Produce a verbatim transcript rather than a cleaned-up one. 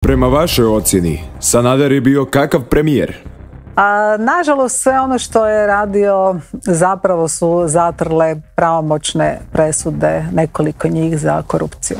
Prema vašoj ocjeni, Sanader je bio kakav premijer? A, nažalost, sve ono što je radio zapravo su zatrle pravomoćne presude, nekoliko njih za korupciju.